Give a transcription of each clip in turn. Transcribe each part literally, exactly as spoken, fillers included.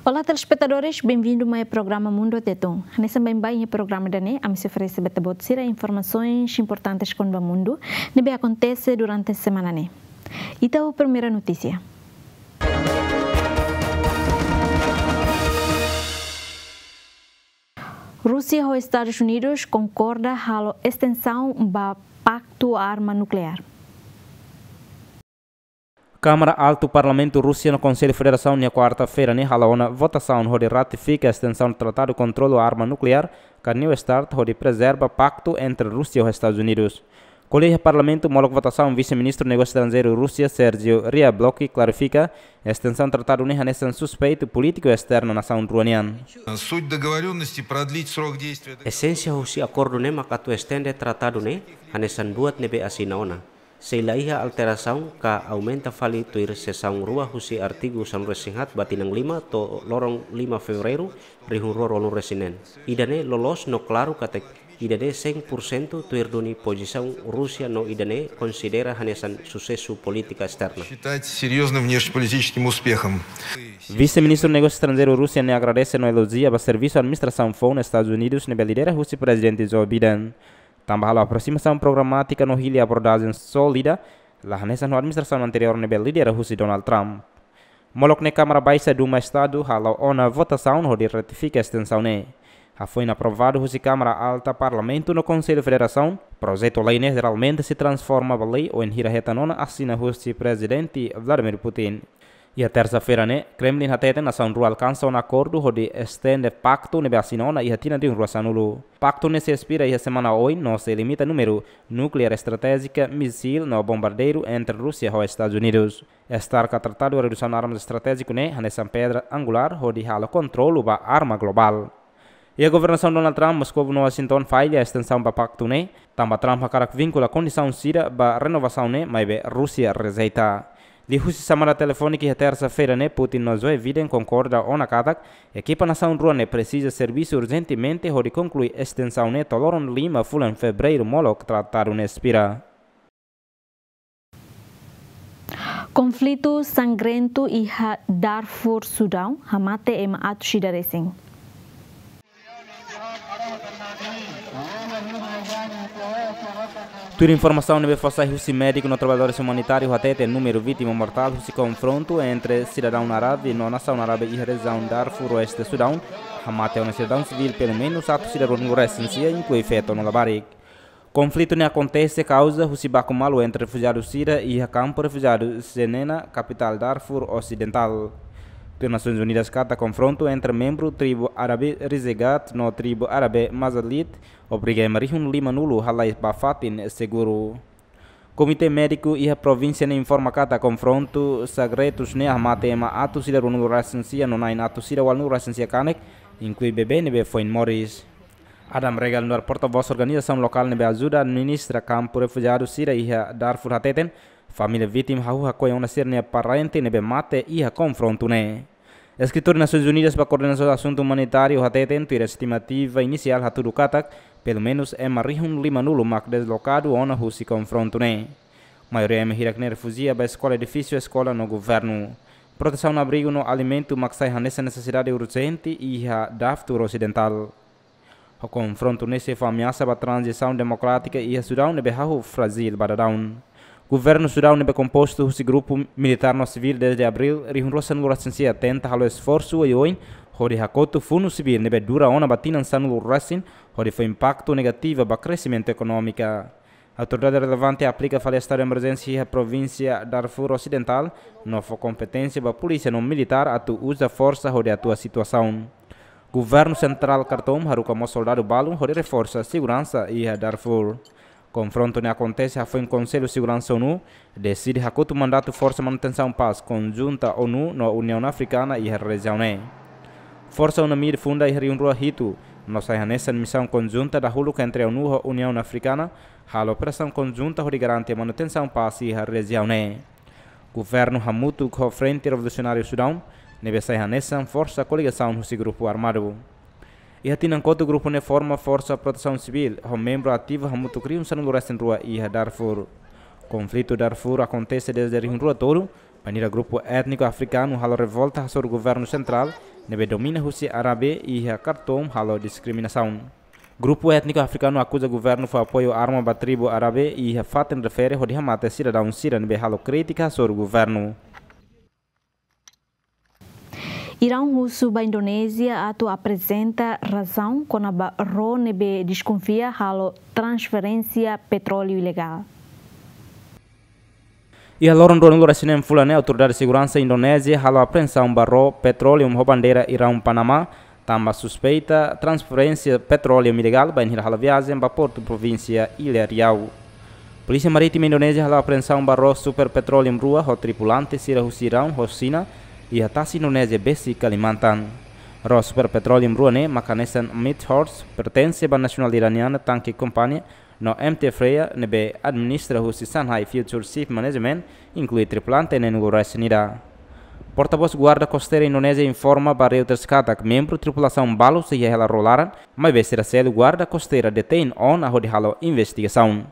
Olá, telespetadores, benvindu mai programa Mundu Tetun. Hanesan baibain iha programa ida-ne'e, ami sei oferese ba ita-boot sira informasoens importantes kona-ba mundu ne'ebé akontese durante semana ne'e. Ita ho primeira notísia. Rúsia ho Estadus Unidus konkorda halo estensaun ba paktu arma nukleár. Kámara Altu Parlamentu Rúsia no Konsellu Federasaun iha kuarta-feira ne'e hala'o ona votasaun hodi ratifika estensaun tratadu kontrolu arma nukleár, ka New START, hodi prezerva paktu entre Rúsia ho Estadus Unidus. Ko'alia iha Parlamentu molok votasaun, Vise-Ministru Negósiu Estranjeiru Rúsia, Sergio Ryablovsky, klarifika, estensaun tratadu ne'e hanesan suspeitu polítiku esterna nasaun rua nian. Суть договорённости продлить срок действия. Esénsia husi akordu ne'e mak atu estende tratadu ne'e hanesan buat ne'ebé asina ona, sei la iha alterasaun ka aumenta fali tuir sesaun rua husi artigu sanulu-resin-haat ba tinan lima to'o loron lima Fevereiru rihun rua ruanulu-resin-neen. Ida-ne'e loloos no klaru katak ida-ne'e cem por cento tuir duni pozisaun Rúsia no ida-ne'e konsidera hanesan susesu polítika esterna. Считать серьёзным внешнеполитическим успехом. Vise-Ministru Negósiu Estranjeiru Rúsia ne'e agradese no elojia ba servisu administrasaun foun Estadus Unidus ne'ebé lidera husi Prezidente Joe Biden. Tanba halo aprosimasaun programátika no hili abordajen sólida, la hanesan ho administrasaun anteriór ne'ebé lidera husi Donald Trump. Molok ne'e Kámara Baixa Duma Estadu hala'o ona votasaun hodi ratifika estensaun ne'e. Hafoin aprovadu husi Kámara Alta Parlamentu no Konsellu Federasaun, projetu lei ne'e jeralmente sei transforma ba lei wainhira hetan ona asina husi Prezidente Vladimir Putin. Iha tersa-feira ne'e, Kremlin hateten nasaun rua alkansa ona akordu hodi estende paktu ne'ebé asina ona iha tinan rihun rua sanulu. Paktu ne'e sei espira iha semana oin no sei limita númeru nukleár estratéjika, misil no bombardeiru entre Rúsia ho Estadus Unidus. START ka Tratadu Redusaun Armas Estratéjiku ne'e hanesan pedra angulár hodi halo kontrolu ba arma globál. Iha governasaun Donald Trump, Moscou no Washington falla estensaun ba paktu ne'e, tanba Trump hakarak vinkula kondisaun sira ba renovasaun ne'e maibé Rúsia rejeita. Liuhusi xamada telefónika iha tersa-feira ne'e, Putin no Joe Biden konkorda ona katak ekipa nasaun rua ne'e presiza servisu urjentemente hodi konklui estensaun ne'e to'o loron lima fulan Fevereiru molok tratadu ne'e espira. Konflitu sangrentu iha Darfur, Sudaun, hamate ema atus ida resin. Tuir informasaun ne'ebé fó sai husi médiku no traballadores umanitáriu hateten númeru vítima mortál husi konfrontu entre sidadaun árabe no nasaun árabe iha rejiaun Darfur Oeste Sudaun, hamate ona sidadaun sivíl pelumenus atus ida ruanulu resin sia, inklui feto no labarik. Konflitu ne'e akontese kauza husi baku malu entre refujiadu sira iha kampu refujiadu Zenena, kapitál Darfur Osidentál. Tuir Nasoins Unidas katak konfrontu entre membru tribu árabe Rizegat no tribu árabe Mazalit obriga ema rihun limanulu halai ba fatin seguru. Komité médiku iha provínsia ne'e informa katak konfrontu sangrentu ne'e hamate ema atus ida ruanulu resin sia no na'in atus ida ualunulu resin sia kanek, inklui bebé ne'ebé foin moris. Adam Regev nu'udar porta-vós organizasaun lokál ne'ebé ajuda administra kampu refujiadu sira iha Darfur hateten, família vítima hahú hakoi ona sira-nia parente ne'ebé mate iha konfrontu ne'e. Eskritóriu Nasoins Unidas ba Koordenasaun Asuntu Umanitáriu hateten, tuir estimativa inisiál hatudu katak pelumenus ema rihun limanulu mak deslokadu ona husi konfrontu ne'e. Maioria ema hirak ne'e refujia ba eskola, edifísiu eskola no governu. Protesaun, abrigu no alimentu mak sai hanesan nesesidade urjente iha Darfur Osidentál. Ho konfrontu ne'e sei fó ameasa ba tranzisaun demokrátika iha Sudaun ne'ebé hahú frájil ba daudaun. Governu Sudaun ne'ebé kompostu husi grupu militár no sivíl dezde abríl rihun rua sanulu resin sia tenta halo esforsu oioin hodi hakotu fundu sivíl ne'ebé dura ona ba tinan sanulu resin, hodi fó impaktu negativu ba kresimentu ekonómiku. Autoridade relevante aplika fali estadu de emerjénsia iha provínsia Darfur Osidentál, no fó kompeténsia ba polísia no militár atu uza forsa hodi atua situasaun. Governu sentrál Khartoum haruka mós soldadu balun hodi reforsa seguransa iha Darfur. Konfrontu ne'e akontese hafoin Konsellu Seguransa ONU deside hakotu mandatu Forsa Manutensaun Pás konjunta ONU no Uniaun Afrikana iha rejiaun ne'e. Forsa UNAMID funda iha rihun rua hitu, no sai hanesan misaun konjunta dahuluk entre ONU ho Uniaun Afrikana, halo operasaun konjunta hodi garante manutensaun pás iha rejiaun ne'e. Governu hamutuk ho Frente Revolusionáriu Sudaun, ne'ebé sai hanesan forsa koligasaun husi grupu armadu. Iha tinan kotuk grupu ne'e forma Forsa Protesaun Sivíl, ho membru ativu hamutuk rihun sanulu resin rua iha Darfur. Konflitu Darfur akontese dezde rihun rua tolu, Bainhira grupu étniku afrikanu halo revolta hasoru governu sentrál ne'ebé domina husi Árabe iha Khartoum halo diskriminasaun. Grupu étniku afrikanu akuza governu fó apoiu arma ba tribu Árabe iha fatin refere hodi hamate sidadaun sira ne'ebé halo krítika hasoru governu. Iraun husu ba Indonézia atu aprezenta razaun kona-ba ró ne'ebé deskonfia halo transferénsia petróleu ilegál. Iha loron ruanulu resin neen fulan ne'e, autoridade seguransa Indonézia halo apreensaun ba ró petróleu ho bandeira Iraun Panamá, tanba suspeita transferénsia petróleu ilegál bainhira halo viajen ba portu provínsia Ilha Riau. Polísia Marítima Indonézia halo apreensaun ba ró Super Petroleum rua ho tripulante sira husi Iraun ho Xina, iha tasi Indonézia besik Kalimantan. Ró Super Petroleum rua ne'e mak hanesan M T Horse, pertense ba nasionál iraniana tanke kompañia, no M T Freya ne'ebé administra husi Shanghai Future Ship Management, inklui tripulante neenulu resin ida. Portavós Guarda Kosteira Indonézia informa ba Reuters katak membru tripulasaun balu sei iha hela ró laran, maibé sira seluk guarda kosteira detein ona hodi halo investigasaun.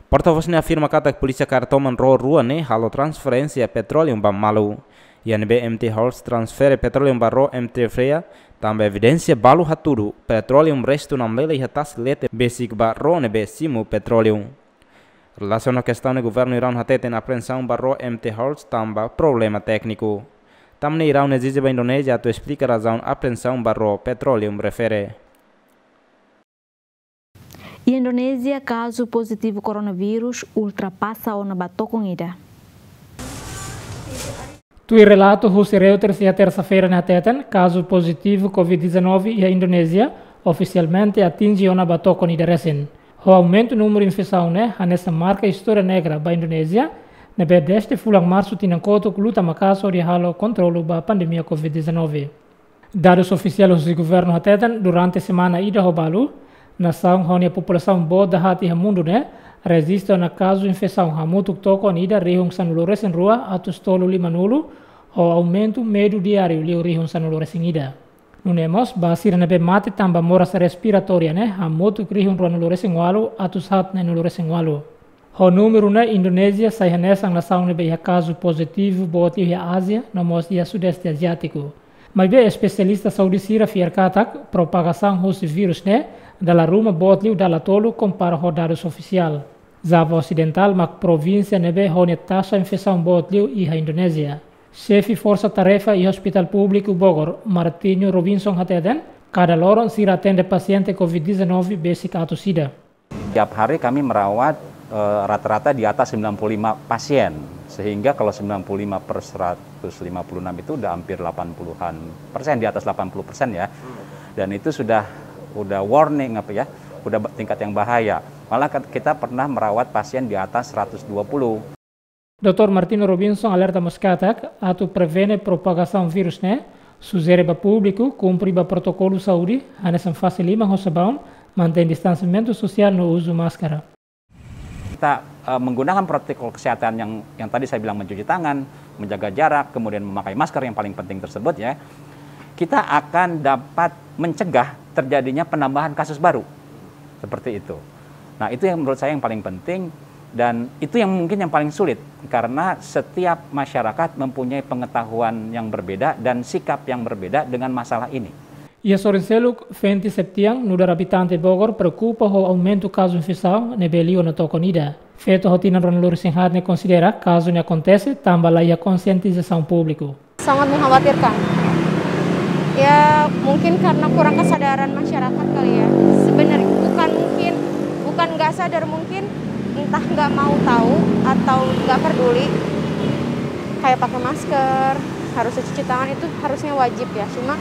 Portavós ne'e afirma katak polísia kaer toman ró rua ne'e halo transferénsia petróleu ba malu. Iha ne'ebé M T Horse transfere petróleu ba ró M T Freya, tanba evidénsia balu hatudu petróleu restu namlele iha tasi leten besik ba ró ne'ebé simu petróleu. Relasiona kestaun ne'e, governu Iraun hateten apreensaun ba ró M T Horse tanba problema tékniku. Tan ne'e Iraun ezije ba Indonézia atu esplika razaun apreensaun ba ró petróleu refere. Iha Indonézia, kazu pozitivu koronavírus ultrapasa ona ba tokon ida. Tuir relatu husi Reuters iha tersa-feira ne'e hateten, kazu pozitivu Covid dezanove iha Indonézia ofisialmente atinje ona ba tokon ida resin. Ho aumentu númeru infesaun ne'e hanesan marka istória negra ba Indonézia, ne'ebé dezde fulan Marsu tinan kotuk luta maka'as hodi halo kontrolu ba pandemia Covid dezanove. Dadus ofisiál husi governu hateten, durante semana ida ho balu, nasaun ho nia populasaun boot dahaat iha mundu ne'e rejista ona kazu infesaun hamutuk tokon ida rihun sanulu resin rua atus tolu lima nulu, ho aumentu medu diáriu liu rihun sanulu resin ida. Nune'e mós, ba sira ne'ebé mate tanba moras respiratória ne'e hamutuk rihun ruanulu resin ualu atus haat neenulu resin ualu. Ho númeru ne'e, Indonézia sai hanesan nasaun ne'ebé iha kazu pozitivu boot liu iha Ázia, no mós iha Sudeste Aziátiku. Maibé espesialista saúde sira fiar katak propagasaun husi vírus ne'e dala ruma boot liu dala tolu kompara ho dadus ofisiál. Java Osidentál mak provínsia ne'ebé ho nia taxa infesaun boot liu iha Indonézia. Xefe Forsa Tarefa iha Hospitál Públiku Bogor, Martinho Robinson hateten, kada loron sira atende pasiente Covid dezanove besik atus ida. Tiap hari kami merawat, eh, rata-rata di atas sembilan puluh lima pasien, sehingga kalau sembilan puluh lima per seratus lima puluh enam itu udah hampir delapan puluhan persen, di atas delapan puluh persen ya. Dan itu sudah, udah warning apa ya, udah ba-, tingkat yang bahaya. Malah kat-, kita pernah merawat pasien di atas seratus dua puluh. Doutór Martinho Robinson alerta mós katak, atu prevene propagasaun vírus ne'e, sujere ba públiku kumpre ba protokolu saúde, hanesan fase liman ho sabaun, mantein distansiamentu sosiál no uzu máskara. Kita, eh, menggunakan protokol kesehatan yang, yang tadi saya bilang, mencuci tangan, menjaga jarak, kemudian memakai masker yang paling penting tersebut ya, kita akan dapat mencegah terjadinya penambahan kasus baru. Seperti itu. Nah, itu yang menurut saya yang paling penting dan itu yang mungkin yang paling sulit karena setiap masyarakat mempunyai pengetahuan yang berbeda dan sikap yang berbeda dengan masalah ini. Iha sorin seluk, Fenty Septian, nu'udar abitante Bogor, preokupa ho aumentu kazu infesaun ne'ebé liu ona tokon ida. Feto ho tinan ruanulu resin haat ne'e konsidera kazu ne'e akontese tanba laiha konsientizasaun públiku. Sangat mengkhawatirkan. Ya, mungkin karena kurang kesadaran masyarakat kali ya. Sebenarnya bukan mungkin, bukan nggak sadar, mungkin entah nggak mau tahu atau nggak peduli. Kayak pakai masker, harus cuci tangan itu harusnya wajib ya. Cuma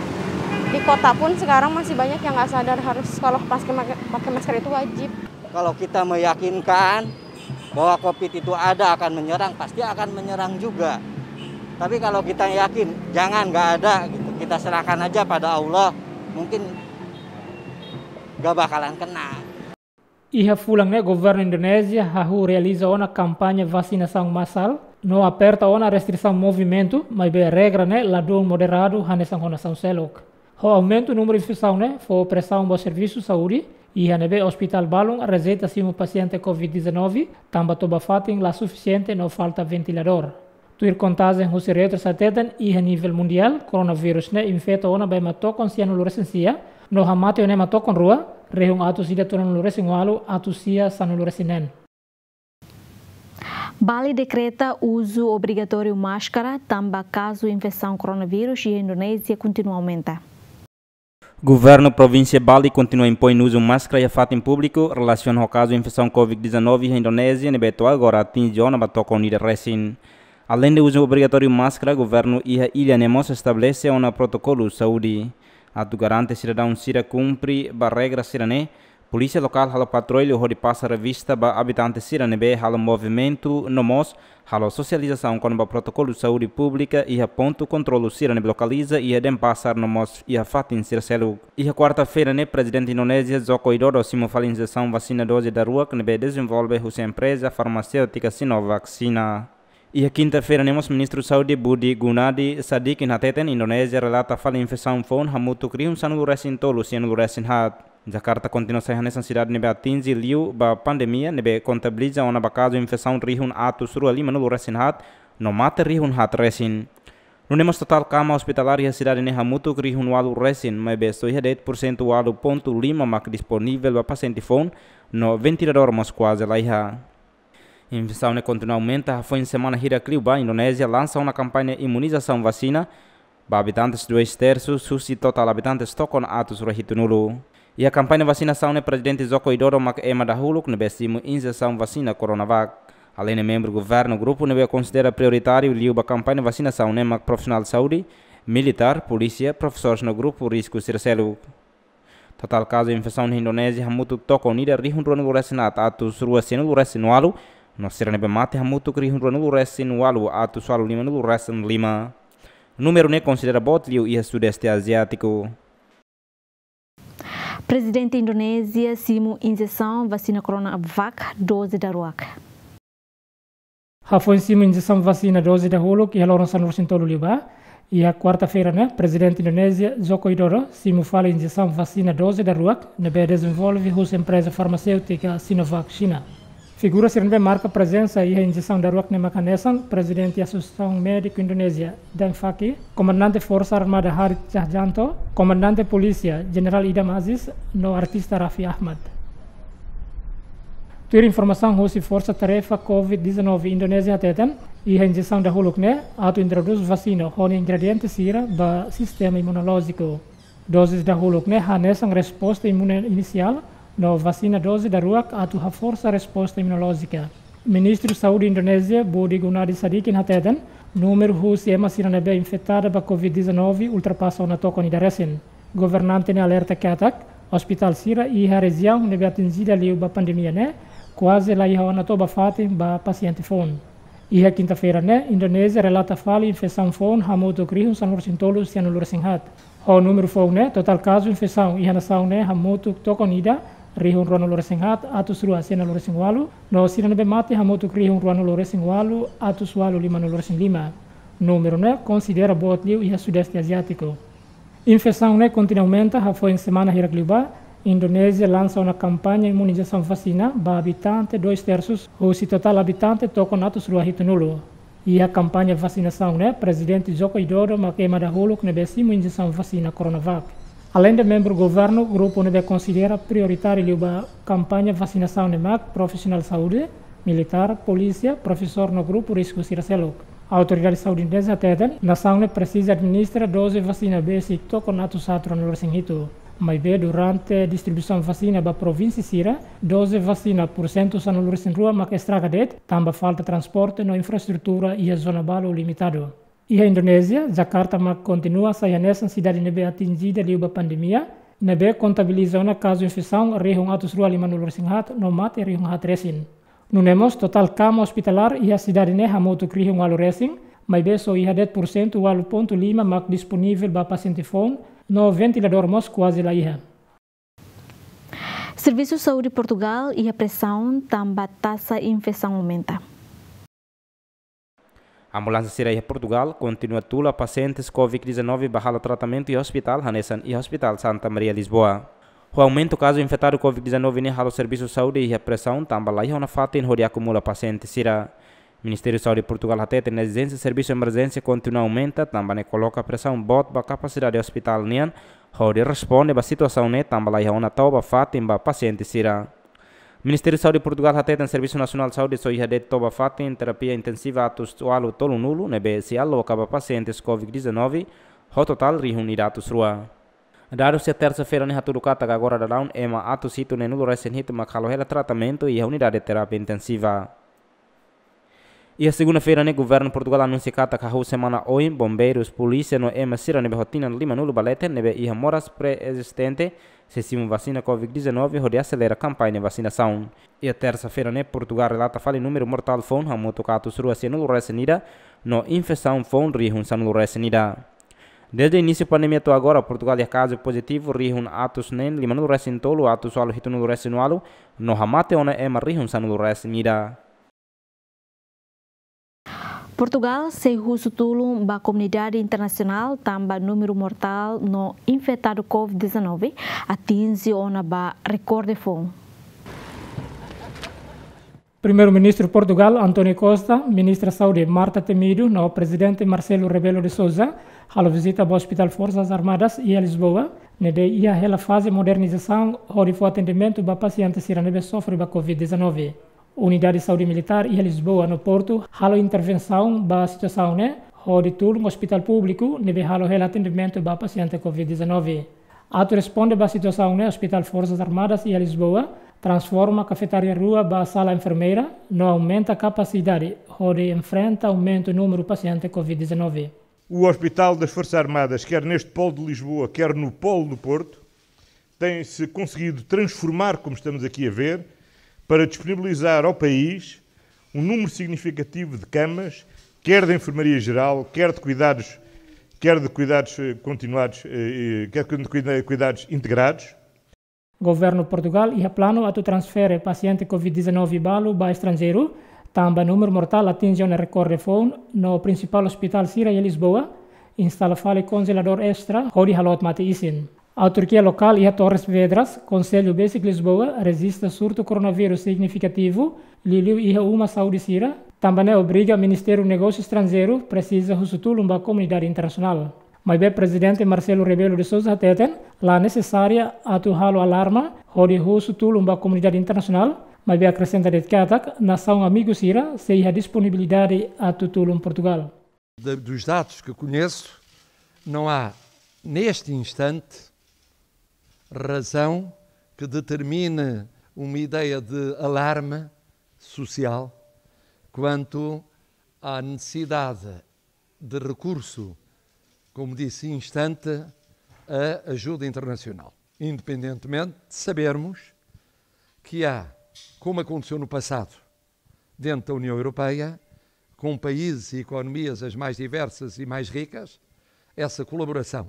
di kota pun sekarang masih banyak yang nggak sadar harus kalau pakai, pakai masker itu wajib. Kalau kita meyakinkan bahwa Covid itu ada, akan menyerang, pasti akan menyerang juga. Tapi kalau kita yakin, jangan, nggak ada, gitu, kita serahkan aja pada Allah, mungkin nggak bakalan kena. Iha fulan ne'e, governu Indonézia hahú realiza ona kampaña vasinasaun masál, no aperta ona restrisaun movimentu, maibé regra ne'e ladún moderadu hanesan ho nasaun seluk. Ho aumentu númeru infesaun ne'e fó presaun ba servisu saúde, iha ne'ebé ospitál balun rejeita simu pasiente Covid dezanove, tanba toba-fatin la sufisiente no falta ventiladór. Tuir kontajen husi Reuters hateten, iha nivel mundiál, koronavírus ne'e infeta ona ba ema tokon sianulu resin sia, no hamate ona ema tokon rua, rihun atus ida tolunulu resin ualu, atus sia sanulu resin neen. Bali dekreta uzu obrigatóriu máskara, tanba kazu infesaun koronavírus iha Indonézia kontinua aumenta. Governu provínsia Bali kontinua impoin uzu máskara iha fatin públiku, relasiona ho kazu infesaun covid dezanove iha Indonézia, ne'ebé to'o agora atinje ona ba tokon ida resin. Aleinde uzu obrigatóriu máskara, governu iha illa ne'e mós estabelese ona protokolu saúde. Atu garante sidadaun sira kumpre ba regra sira-ne'e, polísia lokál halo patrullu hodi pasa revista ba abitante sira ne'ebé halo movimentu, no mós halo sosializasaun kona-ba protokolu saúde públika iha pontu kontrolu sira ne'ebé lokaliza iha Denpasar no mós iha fatin sira seluk. Iha kuarta-feira ne'e, Prezidente Indonézia Joko Widodo simu fali injesaun vasina doze daruak ne'ebé dezenvolve husi empreza farmaséutika Sinovac Xina. Iha kinta-feira ne'e mós, Ministru Saúde Budi Gunadi Sadikin hateten, Indonézia relata fali infesaun foun hamutuk rihun sanulu resin tolu sianulu resin haat. Jakarta kontinua sai hanesan sidade ne'ebé atinje liu ba pandemia, ne'ebé kontabiliza ona ba kazu infesaun rihun atus rua limanulu resin haat, no mate rihun haat resin. Nune'e mós, totál kama ospitalár iha sidade ne'e hamutuk rihun ualu resin, maibé só iha de'it pursentu ualu pontu lima mak disponivel ba pasiente foun, no ventiladór mós kuaze laiha. Infesaun ne'e kontinua aumenta, hafoin semana hirak liu ba, Indonézia lansa ona kampaña imunizasaun vasina ba abitantes dois terços husi totál abitantes tokon atus rua hitunulu. Iha kampaña vasinasaun ne'e, Prezidente Joko Widodo mak ema dahuluk ne'ebé simu injesaun vasina Coronavac. Aleinde membru governu, grupu ne'ebé konsidera prioritáriu liu ba kampaña vasinasaun ne'e mak profisionál saúde, militár, polísia, profesores no grupu risku sira seluk. Totál kazu infesaun iha Indonézia hamutuk tokon ida rihun ruanulu resin haat atus rua sianulu resin ualu, no sira ne'ebé mate hamutuk rihun ruanulu resin ualu atus ualu limanulu resin lima. Númeru ne'e konsidera boot liu iha Sudeste Aziátiku. Prezidente Indonézia simu injesaun vasina Coronavac doze daruak. Hafoin simu injesaun vasina doze dahuluk iha loron sanulu resin tolu liubá, iha kuarta-feira ne'e, Prezidente Indonézia Joko Widodo simu fali injesaun vasina doze daruak ne'ebé dezenvolve husi empreza farmaséutika Sinovac Xina. Figura sira ne'ebé marka prezensa iha injesaun daruak ne'e mak hanesan Prezidente Asosiasaun Médiku Indonézia, DAIMFAKI, Komandante Forsa Armada Harit Cahyanto, Komandante Polísia Jenerál Idam Aziz, no artista Raffi Ahmad. Tuir informasaun husi Forsa Tarefa covid dezanove Indonézia hateten, iha injesaun dahuluk ne'e atu introdús vasina ho nia ingrediente sira ba sistema imunolójiku. Doze dahuluk ne'e hanesan resposta imune inisiál, no vasina doze daruak atu haforsa resposta imunolójika. Ministru Saúde Indonézia, Budi Gunadi Sadikin hateten, númeru husi ema sira ne'ebé infetada ba covid dezanove ultrapasa ona tokon ida resin. Governante ne'e alerta katak, ospitál sira iha rejiaun ne'ebé atinjida liu ba pandemia ne'e kuaze laiha ona to'o ba fatin ba pasiente foun. Iha kinta-feira ne'e, Indonézia relata fali infesaun foun hamutuk rihun sanulu resin tolu sianulu resin haat. Ho númeru foun ne'e, totál kazu infesaun iha nasaun ne'e hamutuk tokon ida rihun ruanulu resin haat atus rua sianulu resin ualu, no sira ne'ebé mate hamutuk rihun ruanulu resin ualu atus ualu limanulu resin lima. Númeru ne'e konsidera boot liu iha Sudeste Aziátiku. Infesaun ne'e kontinua aumenta, hafoin semana hirak liubá, Indonézia lansa ona kampaña imunizasaun vasina ba abitante dois terços husi totál abitante tokon atus rua hitunulu. Iha kampaña vasinasaun ne'e, Prezidente Joko Widodo mak ema dahuluk ne'ebé simu injesaun vasina Coronavac. Aleinde membru governu, grupu ne'ebé konsidera prioritáriu liu ba kampaña vasinasaun ne'e mak profisionál saúde, militár, polísia, profesór no grupu risku sira seluk. Autoridade saúde Indonézia hateten, nasaun ne'e presiza administra doze vasina besik tokon atus haat ruanulu resin hitu. Maibé durante distribuisaun vasina ba provínsia sira, doze vasina pursentu sanulu resin rua mak estraga de'it, tanba falta transporte no infraestrutura iha zona balu limitadu. Iha Indonézia, Jakarta mak kontinua sai hanesan sidade ne'ebé atinjida liu ba pandemia, ne'ebé kontabiliza ona kazu infesaun rihun atus rua limanulu resin haat no mate rihun haat resin. Nune'e mós, totál kama ospitalár iha sidade ne'e hamutuk rihun ualu resin, maibé só iha de'it pursentu ualu pontu lima mak disponivel ba pasiente foun, no ventiladór mós kuaze laiha. Servisu Saúde Portugal iha presaun tanba taxa infesaun aumenta. Ambulánsia sira iha Portugal kontinua tula pasientes covid dezanove ba halo tratamentu iha ospitál, hanesan iha Ospitál Santa Maria Lisboa. Ho aumentu kazu infetadu covid dezanove ne'e halo servisu saúde iha presaun tanba laiha ona fatin hodi akumula pasiente sira. Ministériu Saúde Portugál hateten ezijénsia servisu emerjénsia kontinua aumenta, tanba ne'e koloka presaun boot ba kapasidade ospitál nian hodi responde ba situasaun ne'e, tanba laiha ona to'o ba fatin ba pasiente sira. Ministériu Saúde Portugál hateten Servisu Nasionál Saúde só iha de'it to'o ba fatin terapia intensiva atus ualu tolunulu ne'ebé sei aloka ba pasientes covid dezanove ho totál rihun ida atus rua. Dadus iha tersa-feira ne'e hatudu katak agora daudaun ema atus hitu neenulu resin hitu mak halo hela tratamentu iha unidade terapia intensiva. Iha segunda-feira ne'e Governu Portugál anunsia katak hahú semana oin bombeirus, polísia no ema sira ne'ebé ho tinan limanulu ba leten ne'ebé iha moras pré-ezistente sei simu vasina covid dezanove hodi aselera kampaña vasinasaun. Iha tersa-feira ne'e Portugál relata fali númeru mortál foun hamutuk atus rua sianulu resin ida no infesaun foun rihun sanulu resin ida. Dezde inísiu pandemia to'o agora Portugál iha kazu pozitivu rihun atus neen limanulu resin tolu atus ualu hitunulu resin ualu no hamate ona ema rihun sanulu resin ida. Portugál sei husu tulun ba komunidade internasionál tanba númeru mortál no infetadu covid dezanove atinje ona ba rekorde foun. Primeiru-Ministru Portugál, António Costa, Ministra Saúde, Marta Temido, no Prezidente Marcelo Rebelo de Sousa, halo vizita ba Ospitál Forsas Armadas iha Lisboa, ne'ebé iha hela faze modernizasaun hodi fó atendimentu ba pasiente sira ne'ebé sofre ba covid dezanove. Unidade Saúde Militár iha Lisboa no Portu halo intervensaun ba situasaun ne'e, hodi tulun ospitál públiku ne'ebé halo hela atendimentu ba pasiente covid dezanove. Atu responde ba situasaun ne'e, Ospitál Forsas Armadas iha Lisboa transforma kafetária rua ba sala enfermeira, no aumenta kapasidade hodi enfrenta aumentu númeru pasiente covid dezanove. O Hospital das Forças Armadas, quer neste polo de Lisboa, quer no polo do Porto, tem-se conseguido transformar, como estamos aqui a ver, para disponibilizar ao país um número significativo de camas, quer de enfermaria geral, quer de cuidados, quer de cuidados, eh, continuados, eh, eh, quer de cuida-, cuidados integrados. Governu Portugál iha planu atu transfere pasiente covid dezanove balu ba estranjeiru, tanba númeru mortál atinje ona rekorde foun, no prinsipál ospitál sira iha Lisboa instala fali konjeladór estra hodi haloot mate-isin. Autarkia lokál iha Torres Vedras, Konsellu Besik Lisboa, rejista surtu koronavírus signifikativu, liuliu iha uma saúde sira, tanba ne'e obriga Ministériu Negósiu Estranjeiru presiza husu tulun ba komunidade internasionál. Maibé Prezidente Marcelo Rebelo de Sousa hateten, la nesesária atu halo alarma hodi husu tulun ba komunidade internasionál, maibé akresenta de'it katak nasaun amigu sira sei iha disponibilidade atu tulun Portugál. De, dos dados que conheço, não há, neste instante, razão que determine uma ideia de alarme social quanto à necessidade de recurso, como disse, instante à ajuda internacional. Independentemente de sabermos que há, como aconteceu no passado, dentro da União Europeia, com países e economias as mais diversas e mais ricas, essa colaboração.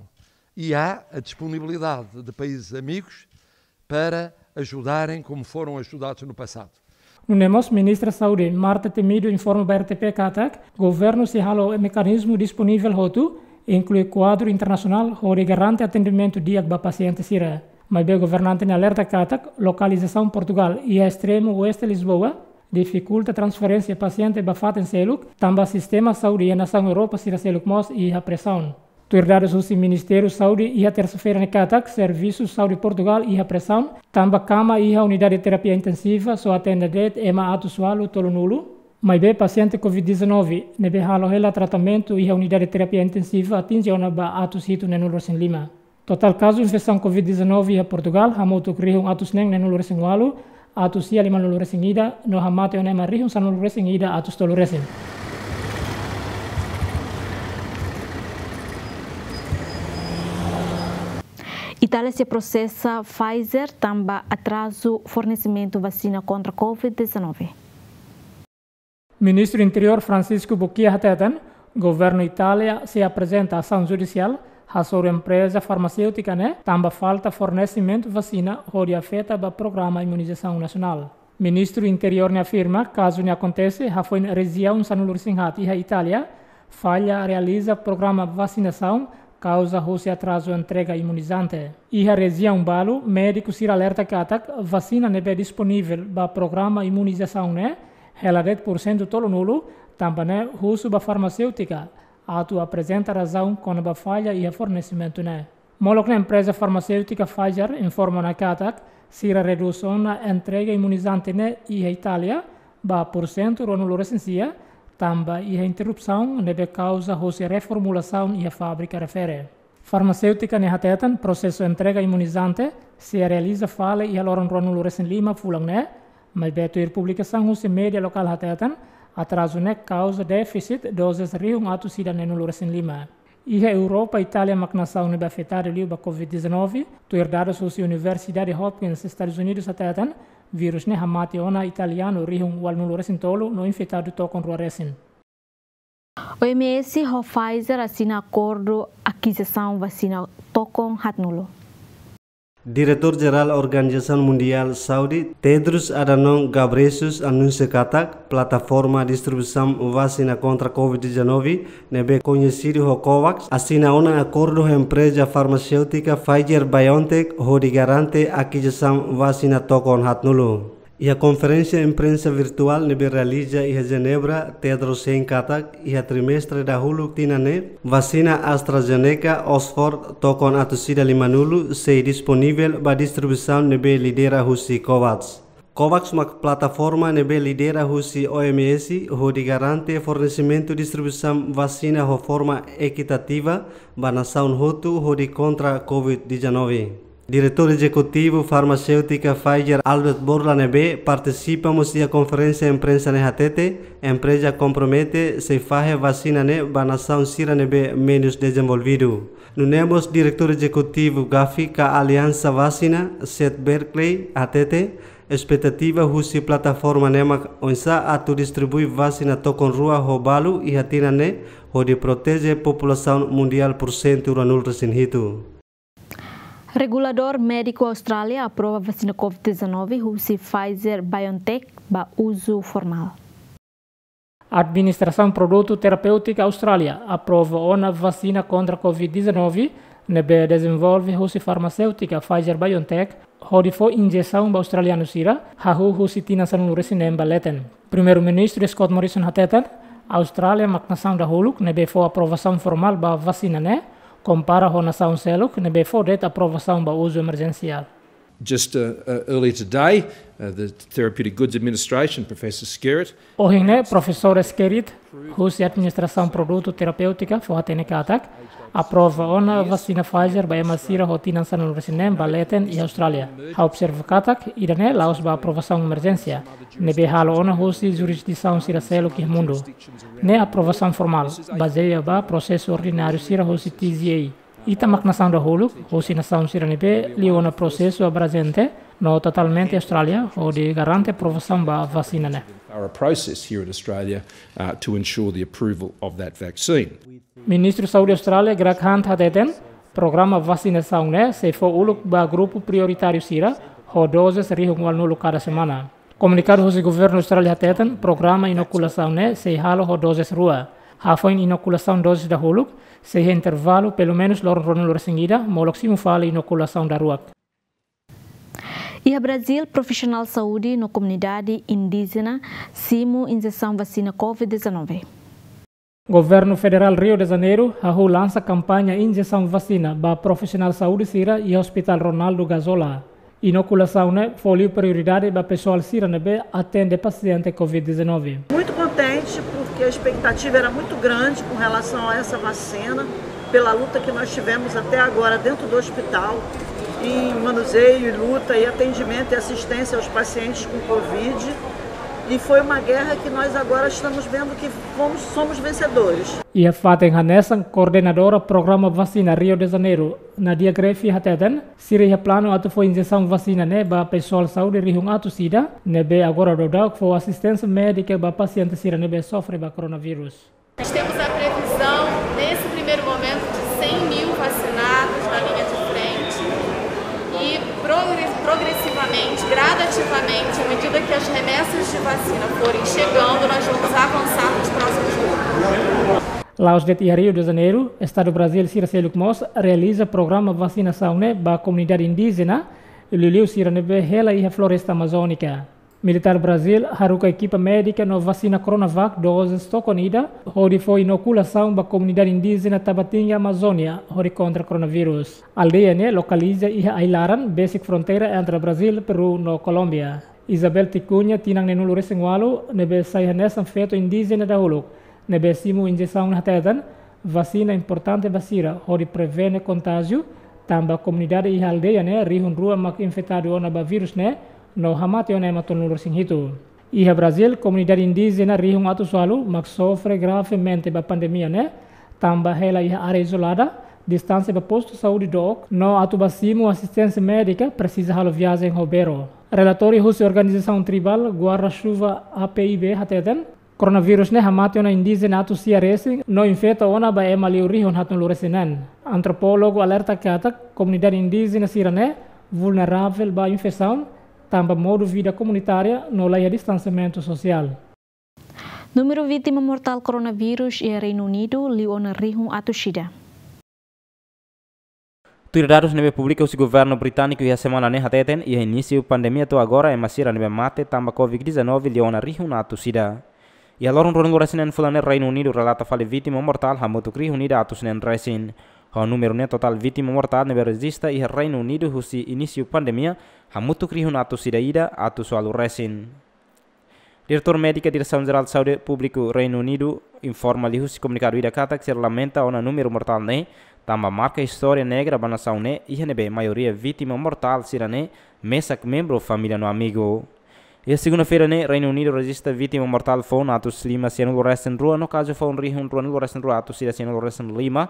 E há a disponibilidade de países amigos para ajudarem como foram ajudados no passado. Nune'e mós Ministra Saúde, Marta Temido, informa ba R T P katak, governu sei halo mekanizmu disponivel hotu, inklui kuadru internasionál, hodi garante atendimentu di'ak ba pasiente sira. Maibé governante ne'e alerta katak, lokalizasaun Portugál iha estremu oeste Lisboa difikulta transferénsia pasiente ba fatin seluk, tanba sistema saúde iha nasaun Europa sira seluk mós iha presaun. Tuir dadus husi Ministériu Saúde iha tersa-feira ne'e katak, servisu saúde Portugál iha presaun, tanba kama iha unidade terapia intensiva só atende de'it ema atus ualu tolunulu. Maibé pasiente covid dezanove ne'ebé halo hela tratamentu iha unidade terapia intensiva atinje ona ba atus hitu neenulu resin lima. Totál kazu infesaun covid dezanove iha Portugál hamutuk rihun atus neen neenulu resin ualu, atus sia limanulu resin ida, no hamate ona ema rihun sanulu resin ida atus tolu resin. Itália sei prosesa Pfizer tanba atrazu fornesimentu vasina kontra covid dezanove. Ministru Interiór Francisco Bucchi hateten, governu Itália sei aprezenta asaun judisiál hasoru empreza farmaséutika ne'e tanba falta fornesimentu vasina hodi afeta ba programa imunizasaun nasionál. Ministru Interiór ne'e afirma, kazu ne'e akontese hafoin rejiaun sanulu resin haat iha Itália falla realiza programa vasinasaun, kauza husi atrazu entrega imunizante. Iha rejiaun balu, médiku sira alerta katak vasina ne'ebé disponivel ba programa imunizasaun ne'e hela de'it pursentu tolunulu, Tanba ne'e husu ba farmaséutika atu aprezenta razaun kona-ba falla iha fornesimentu ne'e. Molok ne'e empreza farmaséutika Pfizer informa ona katak sira redús ona entrega imunizante ne'e iha Itália ba pursentu ruanulu resin sia, tanba iha interrupsaun ne'ebé kauza husi reformulasaun iha fábrika refere. Farmaséutika ne'e hateten prosesu entrega imunizante sei realiza fali iha loron ruanulu resin lima fulan ne'e, maibé tuir publikasaun husi média lokál hateten atrazu ne'e kauza défisit dozes rihun atus ida neenulu resin lima. Iha Europa, Itália mak nasaun ne'ebé afetadu liu ba covid dezanove, tuir dadus husi Universidade Hopkins, Estadus Unidus hateten, vírus ne'e hamate ona italianu rihun ualunulu resin tolu no infetadu tokon rua resin. O M S ho Pfizer asina akordu akizisaun vasina tokon haatnulu. Diretór Jerál Organizasaun Mundiál Saúde, Tedros Adhanom Ghebreyesus, anunsia katak plataforma distribuisaun vasina kontra covid dezanove ne'ebé koñesidu ho COVAX asina ona akordu ho empreza farmaséutika Pfizer-BioNTech hodi garante akizisaun vasina tokon haatnulu. Iha konferénsia imprensa virtuál ne'ebé realiza iha Jenebra, Tedros hein katak iha trimestre dahuluk tinan ne'e, vasina AstraZeneca Oxford tokon atus ida limanulu sei disponivel ba distribuisaun ne'ebé lidera husi COVAX. COVAX mak plataforma ne'ebé lidera husi O M S hodi garante fornesimentu distribuisaun vasina ho forma ekitativa ba nasaun hotu hodi kontra covid dezanove. Diretór Ezekutivu Farmaséutika Pfizer, Albert Bourla, ne'ebé partisipa mós iha konferénsia imprensa ne'e hatete, empreza kompromete sei fahe vasina ne'e ba nasaun sira ne'ebé menus dezenvolvidu. Nune'e mós Diretór Ezekutivu GAFI ka Aliansa Vasina, Seth Berkley, hatete, espetativa husi plataforma ne'e mak oinsá atu distribui vasina tokon rua ho balu iha tinan ne'e, hodi proteje populasaun mundiál pursentu ruanulu resin hitu. Reguladór médiku Austrália aprova vasina covid dezanove husi Pfizer-BioNTech ba uzu formál. Administrasaun Produtu Terapéutika Austrália aprova ona vasina kontra covid dezanove ne'ebé dezenvolve husi farmaséutika Pfizer-BioNTech hodi fó injesaun ba australianu sira, hahú husi tinan sanulu resin neen ba leten. Primeiru-Ministru Scott Morrison hateten, Austrália mak nasaun dahuluk ne'ebé fó aprovasaun formál ba vasina ne'e, kompara ho nasaun seluk ne'ebé fó de'it aprovasaun ba uzu emerjensiál. Just, uh, uh, earlier today, uh, the Therapeutic Goods Administration, Professor Skerritt. Ohin ne'e, Profesór Skerritt, husi Administrasaun Produtu Terapéutika, fó hatene katak aprova ona vasina Pfizer ba ema sira ho tinan sanulu resin neen ba leten iha Austrália. Ha'u observa katak ida-ne'e la'ós ba aprovasaun emerjénsia, ne'ebé halo ona husi jurisdisaun sira seluk iha mundu. Ne'e aprovasaun formál, bazeia ba prosesu ordináriu sira husi T G A. Ita mak nasaun dahuluk husi nasaun sira ne'ebé liu ona prosesu abrangente no totalmente Austrália, hodi garante aprovasaun ba vasina ne'e. Thorough process here in Australia, uh, to ensure the approval of that vaccine. Ministru Saúde Austrália, Greg Hunt, hateten, programa vasinasaun ne'e sei fó uluk ba grupu prioritáriu sira ho dozes rihun ualunulu kada semana. Komunikadu husi Governu Austrália hateten, programa inokulasaun ne'e sei halo ho dozes rua. Hafoin inokulasaun dozes dahuluk, sei iha intervalu pelumenus loron ruanulu resin ida, molok simu fali inokulasaun daruak. Iha Brazíl, profisionál saúde no komunidade indíjena simu injesaun vasina covid dezanove. Governu Federál Rio de Janeiro hahú lansa kampaña injesaun vasina ba profisionál saúde sira iha Hospital Ronaldo Gazola. Inokulasaun ne'e fó liu prioridade ba pesoál sira ne'ebé atende pasiente covid dezanove. Muito contente porque a expectativa era muito grande com relação a essa vacina, pela luta que nós tivemos até agora dentro do hospital, em manuseio e luta e atendimento e assistência aos pacientes com covid. E foi uma guerra que nós agora estamos vendo que fomos, somos vencedores. Iha fatin hanesan, koordenadora programa vasina Rio de Janeiro, Nadia Greffi, hateten, sira iha planu atu fó injesaun vasina ne'e ba pesoál saúde rihun atus ida, ne'ebé agora daudaun fó asisténsia médika ba pasiente sira ne'ebé sofre ba coronavírus. Nós temos a previsão, nesse primeiro momento, de cem mil vacinados na linha de frente e progre-, progressivamente, gradativamente, à medida que as remessas de vacina forem chegando, nós vamos avançar nos próximos grupos. La'ós de'it iha Rio de Janeiro, estadu Brazíl sira seluk mós realiza programa vasinasaun ne'e ba komunidade indíjena, liuliu sira ne'ebé hela iha floresta amazónika. Militár Brazíl haruka ekipa médika no vasina Coronavac doses tokon ida, hodi fó inokulasaun ba komunidade indíjena Tabatinga, Amazónia, hodi kontra koronavírus. Aldeia ne'e lokaliza iha ai-laran besik fronteira entre Brazíl, Peru no Kolómbia. Isabel Ticuña, tinan neenulu-resin-ualu, ne'ebé sai hanesan feto indíjena dahuluk ne'ebé simu injesaun ne'e, hateten, vasina importante ba sira hodi prevene kontájiu, tanba komunidade iha aldeia ne'e rihun rua mak infetadu ona ba vírus ne'e, no hamate ona ema tolunulu-resin-hitu. Iha Brazíl, komunidade indíjena rihun atus ualu mak sofre gravemente ba pandemia ne'e, tanba hela iha área izolada, distánsia ba postu saúde dook, no atu ba simu asisténsia médika presiza halo viajen ho bero. Relatóriu husi organizasaun tribál Guarda-Chuva A P I B hateten, koronavírus ne'e hamate ona indíjena atus sia resin no infeta ona ba ema liu rihun haatnulu-resin-neen. Antropólogu alerta katak komunidade indíjena sira-ne'e vulneravel ba infesaun, tanba modu vida komunitária no la iha distansiamentu sosiál. Númeru vítima mortál koronavírus iha Reinu Unidu liu ona rihun atus ida. Tuir dadus ne'ebé publika husi governu britániku iha semana ne'e hateten, iha inísiu pandemia to'o agora ema sira ne'ebé mate tanba covid dezanove liu ona rihun atus ida. Iha loron ruanulu-resin-neen fulan ne'e Reinu Unidu relata fali vítima mortál hamutuk rihun ida atus neen resin. Ho númeru ne'e totál vítima mortál ne'ebé rejista iha Reinu Unidu husi inísiu pandemia hamutuk rihun atus ida ida atus ualu resin. Diretór Médika Diresaun Jerál Saúde Públiku Reinu Unidu informa liuhusi komunikadu ida katak sira lamenta ona númeru mortál ne'e, tanba marka istória negra ba nasaun ne'e, iha ne'ebé maioria vítima mortál sira-ne'e mesak membru família no amigu. Iha segunda-feira ne'e, Reinu Unidu rejista vítima mortál foun atus lima sianulu-resin-rua no kazu foun rihun ruanulu-resin-rua atus ida sianulu-resin-lima,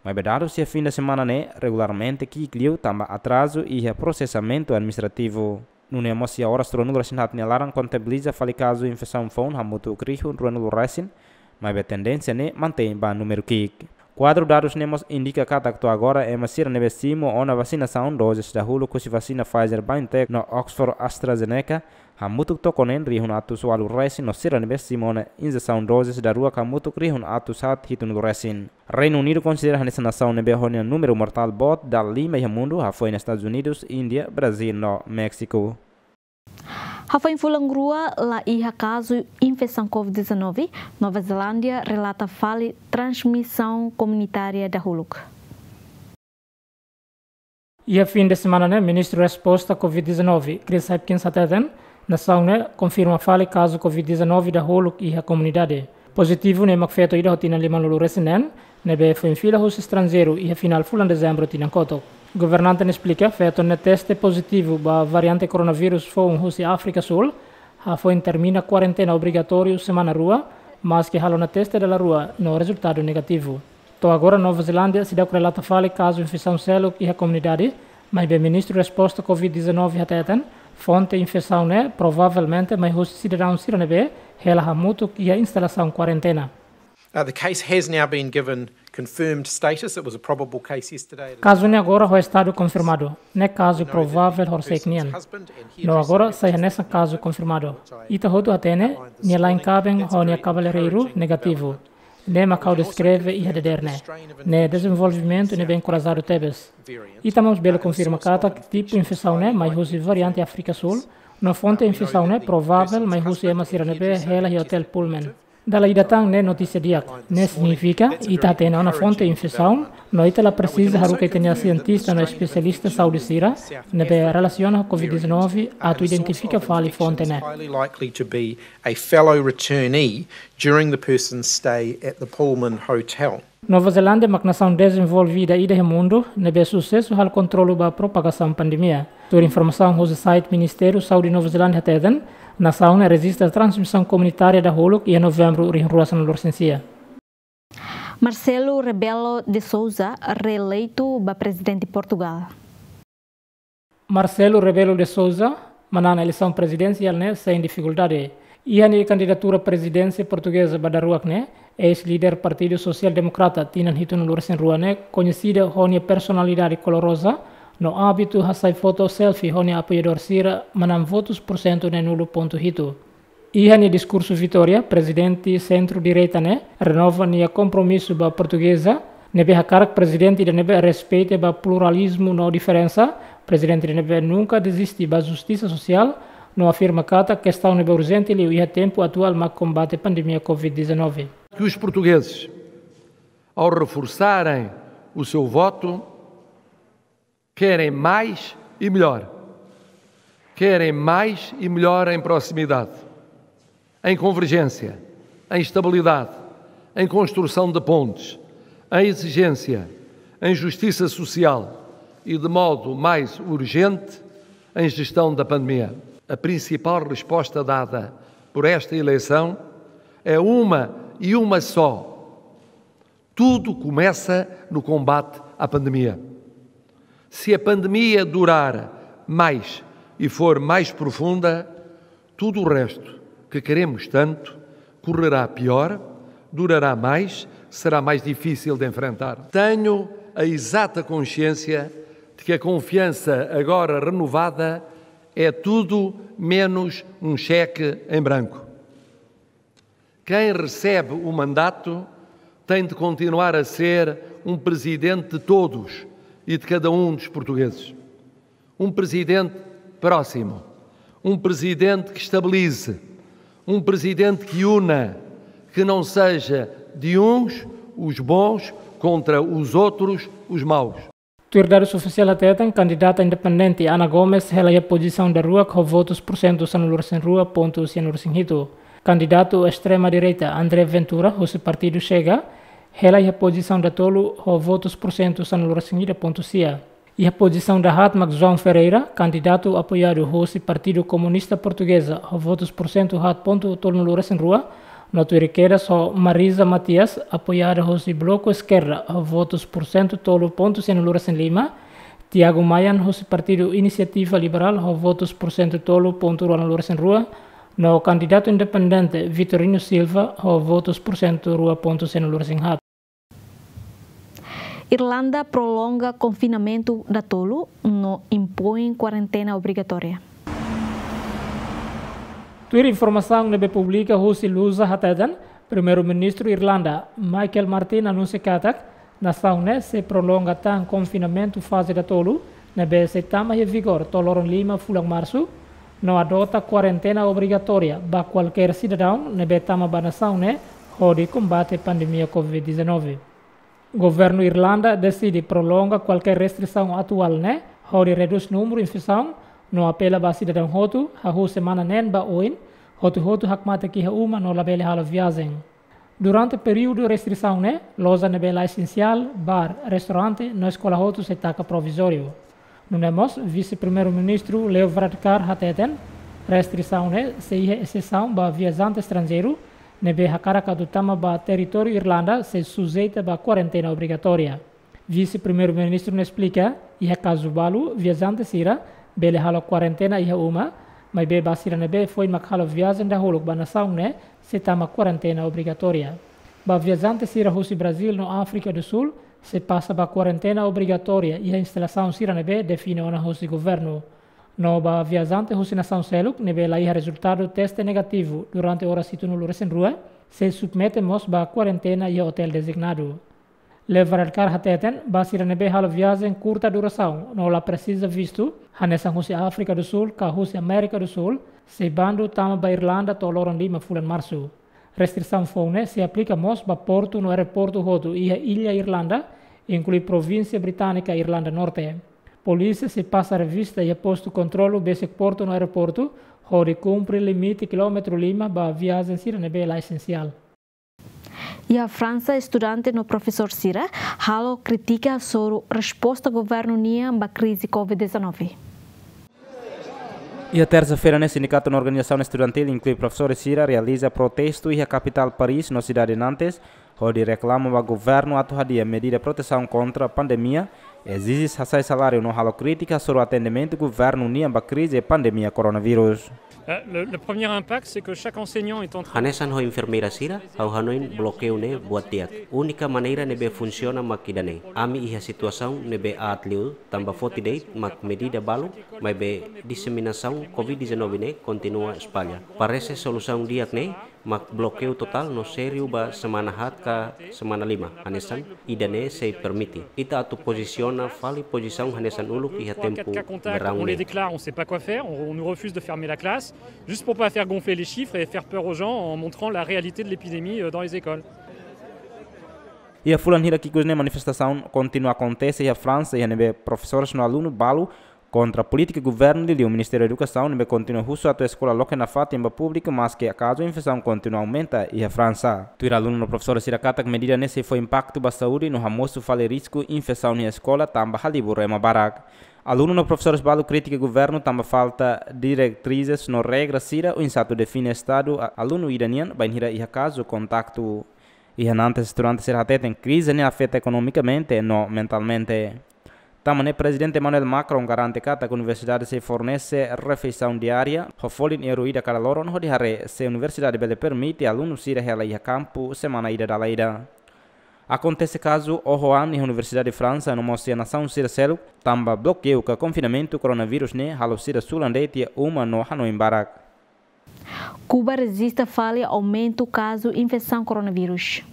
maibé dadus iha fin de semana ne'e regularmente ki'ik liu tanba atrazu iha prosesamentu administrativu. Nune'e mós iha oras ruanulu-resin-haat nia laran kontabiliza fali kazu infesaun foun hamutuk rihun ruanulu-resin, maibé tendénsia ne'e mantein ba númeru ki'ik. Kuadru dadus ne'e mós indika katak to'o agora ema sira ne'ebé simu ona vasinasaun doses dahuluk husi vasina Pfizer-BioNTech no Oxford AstraZeneca hamutuk tokon neen rihun atus ualu resin no sira ne'ebé simu ona injesaun doses daruak hamutuk rihun atus haat hitunulu-resin. Reinu Unidu konsidera hanesan nasaun ne'ebé ho nia númeru mortál boot dala lima iha mundu, hafoin Estadus Unidus, Índia, Brazíl no Méxiku. Hafoin fulan rua la iha kazu infesaun covid dezanove, Nova Zelándia relata fali transmisaun komunitária dahuluk. Iha fin de semana ne'e, Ministru Resposta covid dezanove, Chris Hipkins hateten, nasaun ne'e konfirma fali kazu covid dezanove dahuluk iha komunidade. Pozitivu ne'e mak feto ida ho tinan limanulu-resin-neen, ne'ebé foin fila husi estranjeiru iha finál fulan Dezembru tinan kotuk. Governante ne'e esplika, feto ne'e teste pozitivu ba variante koronavírus foun husi Áfrika Súl, hafoin termina kuarentena obrigatóriu semana rua, maski halo ona teste dala rua no rezultadu negativu. To'o agora Nova Zelándia seidauk relata fali kazu infesaun seluk iha komunidade, maibé Ministru Resposta covid dezanove hateten, fonte infesaun ne'e provavelmente mai husi sidadaun sira ne'ebé hela hamutuk iha instalasaun kuarentena. Uh, the case has now been given confirmed status. It was a probable case yesterday. Kazu ne'e agora ho estadu konfirmadu. Ne'e kazu provável horisehik nian. No agora sai hanesan kazu konfirmadu. Ita hotu hatene, nia la'en kaben ho nia kabeleireiru negativu. Ne'e mak ha'u deskreve iha dadeer ne'e. Ne'e dezenvolvimentu ne'ebé enkorajadu tebes. Ita mós bele konfirma katak tipu infesaun ne'e mai husi variante Áfrika Súl, no fonte infesaun ne'e provável mai husi ema sira ne'ebé hela iha otél Pullman. Dala ida tan, ne'e notísia di'ak. Ne'e signifika ita hatene ona fonte infesaun, no ita la presiza haruka ita-nia sientista no espesialista saúde sira ne'ebé relasiona ho covid dezanove atu identifika fali fonte ne'e. Highly likely to be a fellow returnee during the person's stay at the Pullman Hotel. Nova Zelándia mak nasaun dezenvolvida ida iha mundu ne'ebé susesu halo kontrolu ba propagasaun pandemia. Tuir informasaun husi site Ministériu Saúde Nova Zelándia hateten, nasaun ne'e rejista transmisaun komunitária dahuluk iha Novembru rihun rua sanulu-resin-sia. Marcelo Rebelo de Sousa reeleitu ba prezidente Portugal. Marcelo Rebelo de Sousa manán eleisaun prezidensiál ne'e sein difikuldade. Iha nia kandidatura prezidénsia portugeza ba daruak ne'e, eis-líder Partidu Sosiál Demokrata tinan hitunulu-resin-rua ne'e, koñesida ho nia personalidade koloroza no ábitu hasai foto selfie ho nia apoiadór sira, manán votus pursentu neenulu pontu hitu. Iha nia diskursu vitória, prezidente sentru-direita ne'e renova nia kompromisu ba portugeza, ne'ebé hakarak prezidente ida ne'ebé respeita ba pluralizmu no diferensa, prezidente ida ne'ebé nunka deziste ba justisa sosiál, No afirma katak kestaun ne'ebé urjente liu iha tempu atuál mak kombate pandemia covid dezanove. Que os portugueses, ao reforçarem o seu voto, querem mais e melhor. Querem mais e melhor em proximidade, em convergência, em estabilidade, em construção de pontes, em exigência, em justiça social e, de modo mais urgente, em gestão da pandemia. A principal resposta dada por esta eleição é uma e uma só. Tudo começa no combate à pandemia. Se a pandemia durar mais e for mais profunda, tudo o resto que queremos tanto correrá pior, durará mais, será mais difícil de enfrentar. Tenho a exata consciência de que a confiança agora renovada é tudo menos um cheque em branco. Quem recebe o mandato tem de continuar a ser um presidente de todos e de cada um dos portugueses. Um presidente próximo. Um presidente que estabilize. Um presidente que una. Que não seja de uns os bons contra os outros os maus. Tuir dadus ofisiál hateten, kandidata independente Ana Gomes hela iha pozisaun daruak ho votus pursentu sanulu-resin-rua pontu sianulu-resin-hitu. Kandidatu estrema direita André Ventura, husi partidu Chega, hela iha pozisaun datolu ho votus pursentu sanulu-resin-ida pontu sia. Iha pozisaun dahaat mak João Ferreira, kandidatu apoiadu husi Partidu Komunista Portugeza, ho votus pursentu haat pontu tolunulu-resin-rua, no tuir kedas ho Marisa Matias, apoiada husi Bloku Eskerda, ho votus pursentu tolu pontu sianulu-resin-lima, Tiago Maia husi Partidu Inisiativa Liberál, ho votus pursentu tolu pontu ruanulu-resin-rua, no kandidatu independente Vitorino Silva, ho votus pursentu rua pontu sianulu-resin-haat. Irlanda prolonga konfinamentu datolu no impoin kuarentena obrigatória. Tuir informasaun ne'ebé publika husi Lusa hateten, Primeiru-Ministru Irlanda, Michael Martin, anunsia katak nasaun ne'e sei prolonga tan konfinamentu faze datolu, ne'ebé sei tama iha vigór to'o loron lima fulan Marsu, no adota kuarentena obrigatória ba kualkér sidadaun ne'ebé tama ba nasaun ne'e hodi kombate pandemia covid dezanove. Governu Irlanda deside prolonga kualkér restrisaun atuál ne'e hodi redús númeru infesaun, no apela ba sidadaun hotu, hahú semana neen ba oin, hotu-hotu hakmatek iha uma no labele halo viajen. Durante períodu restrisaun ne'e, loja ne'ebé la esensiál, bar, restaurante, no eskola hotu sei taka provizóriu. Nune'e mós, Vise-Primeiru-Ministru Leo Varadkar hateten, restrisaun ne'e sei iha exesaun ba viajante estranjeiru, ne'ebé hakarak atu tama ba territóriu Irlanda sei sujeita ba kuarentena obrigatória. Vise-Primeiru-Ministru ne'e esplika, iha kazu balu, viajante sira bele halo kuarentena iha uma, maibé ba sira ne'ebé foin mak halo viajen dahuluk ba nasaun ne'e, sei tama kuarentena obrigatória. Ba viajante sira husi Brazíl no Áfrika do Sul, sei pasa ba kuarentena obrigatória iha instalasaun sira ne'ebé define ona husi governu. No ba viajante husi nasaun seluk ne'ebé la iha rezultadu teste negativu durante oras hitunulu-resin-rua, sei submete mós ba kuarentena iha otél dezignadu. Leo Varadkar hateten, ba sira ne'ebé halo viajen kurta durasaun no la presiza vistu, hanesan husi Áfrika do Sul ka husi Amérika do Sul, sei bandu tama ba Irlanda to'o loron lima fulan Marsu. Restrisaun foun ne'e sei aplika mós ba portu no aeroportu hotu iha illa Irlanda, inklui provínsia británika Irlanda Norte. Polísia sei pasa revista iha postu kontrolu besik portu no aeroportu, hodi kumpre limite kilómetru lima ba viajen sira ne'ebé la esensiál. Iha Fransa, estudante no profesór sira halo krítika soru resposta governu nian ba krize covid dezanove. Iha tersa-feira ne'e, sindikatu no organizasaun estudantil, inklui profesór sira, realiza protestu iha kapitál Paris no sidade Nantes, hodi reklama ba governu atu hadi'a medida protesaun kontra pandemia, ezije hasai saláriu no halo krítika soru atendimentu governu nian ba krize pandemia koronavírus. Euh, le, le premier impact, c'est que chaque enseignant est en train... Hanesan ho enfermeira sira, ha'u hanoin blokeiu ne'e buat di'ak. Únika maneira ne'ebé funsiona mak ida-ne'e. Ami iha situasaun ne'ebé aat liu, tanba foti de'it mak medida balu, maibé diseminasaun covid dezanove ne'e kontinua espalla. Parese solusaun di'ak ne'e mak blokeiu totál no sériu ba semana haat ka semana lima, hanesan ida-ne'e sei permite. Ita atu pozisiona Fali pozisaun hanesan uluk iha tempu verão ne'e. On les déclare, on sait pas quoi faire, on, on nous refuse de fermer la classe, juste pour pas faire gonfler les chiffres et faire peur aux gens en montrant la réalité de l'épidémie, euh, dans les écoles. Iha fulan hirak ikus ne'e manifestasaun kontinua akontese iha Fransa, iha ne'ebé profesores no alunu balu kontra polítika governu liuliu Ministériu Edukasaun ne'ebé kontinua husu atu eskola loke nafatin ba públiku, maske kazu infesaun kontinua aumenta iha Fransa. Tuir alunu no profesores sira katak medida ne'e sei fó impaktu ba saúde no hamosu fali risku infesaun iha eskola tanba halibur ema barak. Alunu no profesores balu kritika governu tanba falta diretrizes no regra sira oinsá atu define estadu a-, alunu ida nian bainhira iha kazu kontaktu. Iha nantes estudante sira hateten krize ne'e afeta ekonomikamente no mentalmente. Tanba ne'e Prezidente Emmanuel Macron garante katak universidade sei fornese refeisaun diária ho folin euro ida kada loron hodi haree se universidade bele permite alunu sira hela iha kampu semana ida dala ida. Akontese kazu oho an iha Universidade Fransa no mós iha nasaun sira seluk tanba blokeiu ka konfinamentu koronavírus ne'e halo sira sulan de'it iha uma no hanoin barak. Kuba rejista fali aumentu kazu infesaun koronavírus.